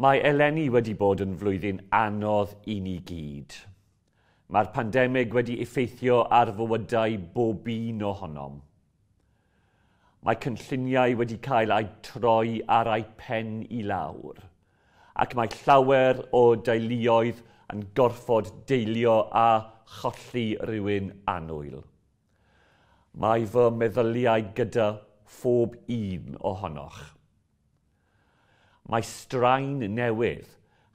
Mae eleni wedi bod yn flwyddyn anodd i ni gyd. Mae'r pandemig wedi effeithio ar fywydau bob un ohonom. Mae cynlluniau wedi cael eu troi ar eu pen i lawr, ac mae llawer o deuluoedd yn gorfod deilio a cholli rhywun annwyl. Mae fy meddyliau gyda phob un ohonoch. Mae straen newydd,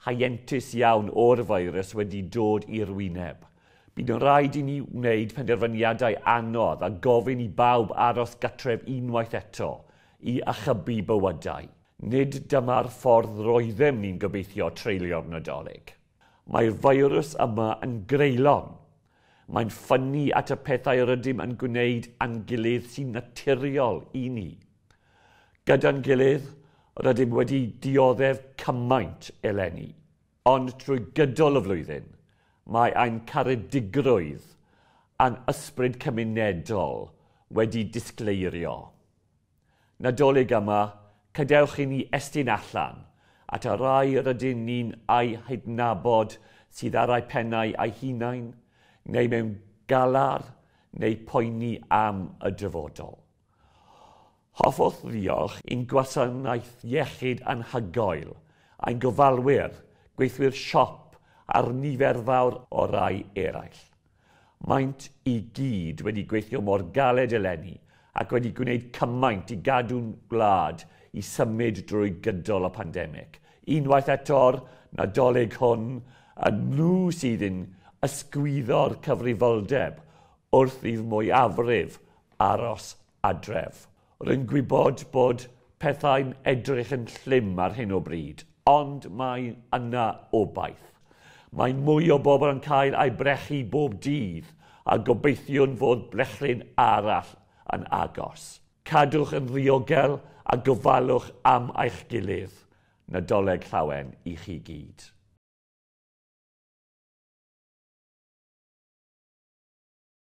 heintus iawn o'r feirws wedi dod i'r wyneb. Bydd yn rhaid i ni wneud penderfyniadau anodd a gofyn i bawb aros gartref unwaith eto i achubu bywydau. Nid dyma'r ffordd roeddem ni'n gobeithio treulio'r Nadolig. Mae'r feirws yma yn greulon. Mae'n ffynnu at y pethau rydym yn gwneud â'n gilydd sy'n naturiol i ni. Gyda'n gilydd, rydym wedi dioddef cymaint eleni. Ond trwy gydol y flwyddyn, mae ein caredigrwydd a'n ysbryd cymunedol wedi disgleirio. Nadolig yma, cadewch i ni estyn allan at y rai rydyn ni'n eu hadnabod sydd ar eu pennau eu hunain, neu mewn galar, neu poeni am y dyfodol. Hoffwn ddiolch i'n gwasanaeth iechyd anhygoel, ein gofalwyr, gweithwyr siop a'r nifer fawr o rai eraill. Maent i gyd wedi gweithio mor galed eleni ac wedi gwneud cymaint i gadw'n gwlad i symud drwy gydol y pandemig. Unwaith eto'r Nadolig hwn, y nhw sydd yn ysgwyddo'r cyfrifoldeb wrth i'r mwyafrif aros adref. Rwy'n gwybod bod pethau'n edrych yn llym ar hyn o bryd, ond mae yna obaith. Mae mwy o bobl yn cael eu brechu bob dydd a gobeithiwn fod brechlyn arall yn agos. Cadwch yn ddiogel a gofalwch am eich gilydd. Nadolig llawen i chi gyd.